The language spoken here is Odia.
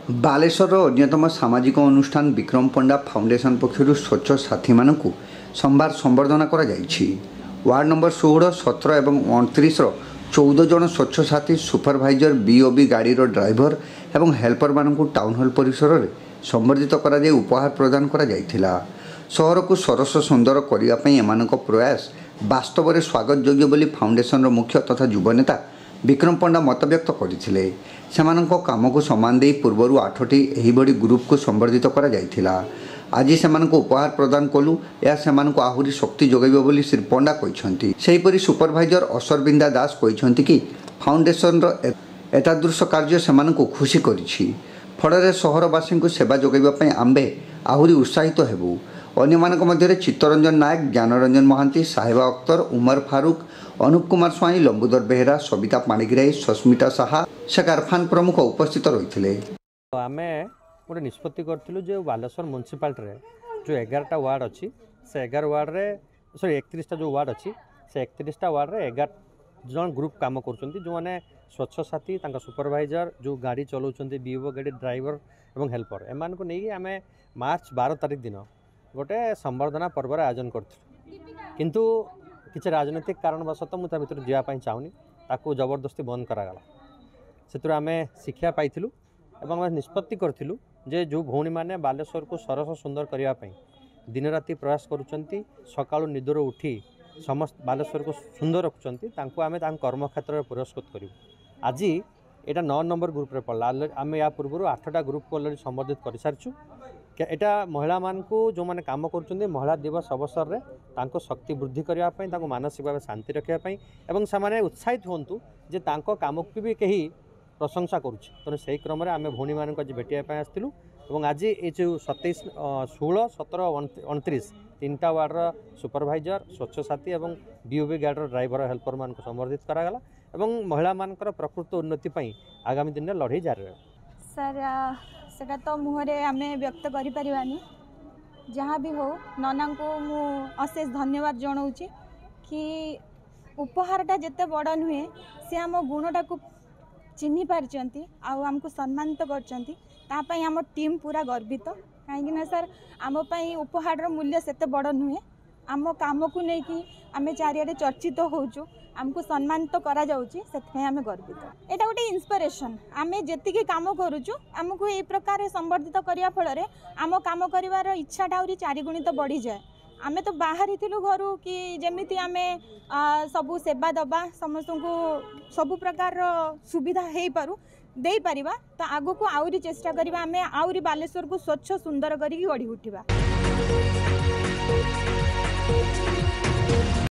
ବାଲେଶ୍ୱରର ଅନ୍ୟତମ ସାମାଜିକ ଅନୁଷ୍ଠାନ ବିକ୍ରମ ପଣ୍ଡା ଫାଉଣ୍ଡେସନ ପକ୍ଷରୁ ସ୍ୱଚ୍ଛ ସାଥୀମାନଙ୍କୁ ସୋମବାର ସମ୍ବର୍ଦ୍ଧନା କରାଯାଇଛି। ୱାର୍ଡ ନମ୍ବର 16, 17 ଏବଂ 29ର 14 ଜଣ ସ୍ୱଚ୍ଛ ସାଥୀ, ସୁପରଭାଇଜର, ବିଓବି ଗାଡ଼ିର ଡ୍ରାଇଭର ଏବଂ ହେଲ୍ପରମାନଙ୍କୁ ଟାଉନ୍ ହଲ୍ ପରିସରରେ ସମ୍ବର୍ଦ୍ଧିତ କରାଯାଇ ଉପହାର ପ୍ରଦାନ କରାଯାଇଥିଲା। ସହରକୁ ସରସ ସୁନ୍ଦର କରିବା ପାଇଁ ଏମାନଙ୍କ ପ୍ରୟାସ ବାସ୍ତବରେ ସ୍ୱାଗତ ଯୋଗ୍ୟ ବୋଲି ଫାଉଣ୍ଡେସନର ମୁଖ୍ୟ ତଥା ଯୁବନେତା ବିକ୍ରମ ପଣ୍ଡା ମତବ୍ୟକ୍ତ କରିଥିଲେ। ସେମାନଙ୍କ କାମକୁ ସମ୍ମାନ ଦେଇ ପୂର୍ବରୁ 8ଟି ଏହିଭଳି ଗ୍ରୁପକୁ ସମ୍ବର୍ଦ୍ଧିତ କରାଯାଇଥିଲା। ଆଜି ସେମାନଙ୍କୁ ଉପହାର ପ୍ରଦାନ କଲୁ, ଏହା ସେମାନଙ୍କୁ ଆହୁରି ଶକ୍ତି ଯୋଗାଇବ ବୋଲି ଶ୍ରୀ ପଣ୍ଡା କହିଛନ୍ତି। ସେହିପରି ସୁପରଭାଇଜର ଅସରବିନ୍ଦା ଦାସ କହିଛନ୍ତି କି ଫାଉଣ୍ଡେସନର ଏତାଦୃଶ କାର୍ଯ୍ୟ ସେମାନଙ୍କୁ ଖୁସି କରିଛି। ଫଳରେ ସହରବାସୀଙ୍କୁ ସେବା ଯୋଗାଇବା ପାଇଁ ଆମ୍ଭେ ଆହୁରି ଉତ୍ସାହିତ ହେବୁ। ଅନ୍ୟମାନଙ୍କ ମଧ୍ୟରେ ଚିତ୍ତରଞ୍ଜନ ନାୟକ, ଜ୍ଞାନରଞ୍ଜନ ମହାନ୍ତି, ସାହେବା ଅକ୍ତର, ଉମର ଫାରୁକ, ଅନୁପ କୁମାର ସ୍ୱାଇଁ, ଲମ୍ବୁଦର ବେହେରା, ସବିତା ପାଣିଗ୍ରାହୀ, ସସ୍ମିତା ସାହା, ଶେଖ ଆରଫାନ ପ୍ରମୁଖ ଉପସ୍ଥିତ ରହିଥିଲେ। ଆମେ ଗୋଟେ ନିଷ୍ପତ୍ତି କରିଥିଲୁ ଯେ ବାଲେଶ୍ୱର ମ୍ୟୁନିସିପାଲିଟିରେ ଯେଉଁ 11ଟା ୱାର୍ଡ଼ ଅଛି, ସେ 11 ୱାର୍ଡ଼ରେ, ସରି, 31ଟା ଯେଉଁ ୱାର୍ଡ଼ ଅଛି, ସେ 31ଟା ୱାର୍ଡ଼ରେ 11 ଜଣ ଗ୍ରୁପ୍ କାମ କରୁଛନ୍ତି, ଯେଉଁମାନେ ସ୍ୱଚ୍ଛ ସାଥୀ, ତାଙ୍କ ସୁପରଭାଇଜର, ଯେଉଁ ଗାଡ଼ି ଚଲାଉଛନ୍ତି, ବିଓ ଗାଡ଼ି ଡ୍ରାଇଭର ଏବଂ ହେଲ୍ପର। ଏମାନଙ୍କୁ ନେଇକି ଆମେ ମାର୍ଚ୍ଚ 12 ତାରିଖ ଦିନ ଗୋଟେ ସମ୍ବର୍ଦ୍ଧନା ପର୍ବର ଆୟୋଜନ କରିଥିଲୁ। କିନ୍ତୁ କିଛି ରାଜନୈତିକ କାରଣବଶତଃ, ମୁଁ ତା ଭିତରୁ ଯିବା ପାଇଁ ଚାହୁଁନି, ତାକୁ ଜବରଦସ୍ତି ବନ୍ଦ କରାଗଲା। ସେଥିରୁ ଆମେ ଶିକ୍ଷା ପାଇଥିଲୁ ଏବଂ ଆମେ ନିଷ୍ପତ୍ତି କରିଥିଲୁ ଯେ ଯେଉଁ ଭଉଣୀମାନେ ବାଲେଶ୍ୱରକୁ ସରସ ସୁନ୍ଦର କରିବା ପାଇଁ ଦିନରାତି ପ୍ରୟାସ କରୁଛନ୍ତି, ସକାଳୁ ନିଦରୁ ଉଠି ସମସ୍ତ ବାଲେଶ୍ୱରକୁ ସୁନ୍ଦର ରଖୁଛନ୍ତି, ତାଙ୍କୁ ଆମେ ତାଙ୍କ କର୍ମକ୍ଷେତ୍ରରେ ପୁରସ୍କୃତ କରିବୁ। ଆଜି ଏଇଟା 9 ନମ୍ବର ଗ୍ରୁପ୍ରେ ପଡ଼ିଲା। ଆମେ ୟା ପୂର୍ବରୁ 8ଟା ଗ୍ରୁପ୍କୁ ଅଲରେଡ଼ି ସମ୍ବର୍ଦ୍ଧିତ କରିସାରିଛୁ। ଏଇଟା ମହିଳାମାନଙ୍କୁ, ଯେଉଁମାନେ କାମ କରୁଛନ୍ତି, ମହିଳା ଦିବସ ଅବସରରେ ତାଙ୍କୁ ଶକ୍ତି ବୃଦ୍ଧି କରିବା ପାଇଁ, ତାଙ୍କୁ ମାନସିକ ଭାବେ ଶାନ୍ତି ରଖିବା ପାଇଁ ଏବଂ ସେମାନେ ଉତ୍ସାହିତ ହୁଅନ୍ତୁ ଯେ ତାଙ୍କ କାମକୁ ବି କେହି ପ୍ରଶଂସା କରୁଛି। ତେଣୁ ସେହି କ୍ରମରେ ଆମେ ଭଉଣୀମାନଙ୍କୁ ଆଜି ଭେଟିବା ପାଇଁ ଆସିଥିଲୁ ଏବଂ ଆଜି ଏ ଯେଉଁ 27, 16, 17, 29 ତିନିଟା ୱାର୍ଡ଼ର ସୁପରଭାଇଜର, ସ୍ୱଚ୍ଛ ସାଥୀ ଏବଂ ବିଓବି ଗାର୍ଡ଼ର ଡ୍ରାଇଭର, ହେଲ୍ପରମାନଙ୍କୁ ସମ୍ବର୍ଦ୍ଧିତ କରାଗଲା ଏବଂ ମହିଳାମାନଙ୍କର ପ୍ରକୃତ ଉନ୍ନତି ପାଇଁ ଆଗାମୀ ଦିନରେ ଲଢ଼େଇ ଜାରି ରହିବ। ସାର୍, ସେଟା ତ ମୁହଁରେ ଆମେ ବ୍ୟକ୍ତ କରିପାରିବାନି। ଯାହା ବି ହଉ, ନନାଙ୍କୁ ମୁଁ ଅଶେଷ ଧନ୍ୟବାଦ ଜଣାଉଛି କି ଉପହାରଟା ଯେତେ ବଡ଼ ନୁହେଁ, ସେ ଆମ ଗୁଣଟାକୁ ଚିହ୍ନି ପାରିଛନ୍ତି ଆଉ ଆମକୁ ସମ୍ମାନିତ କରିଛନ୍ତି, ତା ପାଇଁ ଆମ ଟିମ୍ ପୁରା ଗର୍ବିତ। କାହିଁକିନା ସାର୍, ଆମ ପାଇଁ ଉପହାରର ମୂଲ୍ୟ ସେତେ ବଡ଼ ନୁହେଁ। ଆମ କାମକୁ ନେଇକି ଆମେ ଚାରିଆଡ଼େ ଚର୍ଚ୍ଚିତ ହେଉଛୁ, ଆମକୁ ସମ୍ମାନିତ କରାଯାଉଛି, ସେଥିପାଇଁ ଆମେ ଗର୍ବିତ। ଏଇଟା ଗୋଟେ ଇନ୍ସପିରେସନ୍। ଆମେ ଯେତିକି କାମ କରୁଛୁ, ଆମକୁ ଏଇ ପ୍ରକାର ସମ୍ବର୍ଦ୍ଧିତ କରିବା ଫଳରେ ଆମ କାମ କରିବାର ଇଚ୍ଛାଟା ଆହୁରି ଚାରିଗୁଣିତ ବଢ଼ିଯାଏ। ଆମେ ତ ବାହାରିଥିଲୁ ଘରୁ କି ଯେମିତି ଆମେ ସବୁ ସେବା ଦେବା, ସମସ୍ତଙ୍କୁ ସବୁ ପ୍ରକାରର ସୁବିଧା ହେଇପାରୁ ଦେଇପାରିବା। ତ ଆଗକୁ ଆହୁରି ଚେଷ୍ଟା କରିବା, ଆମେ ଆହୁରି ବାଲେଶ୍ୱରକୁ ସ୍ୱଚ୍ଛ ସୁନ୍ଦର କରିକି ଗଢ଼ି ଉଠିବା।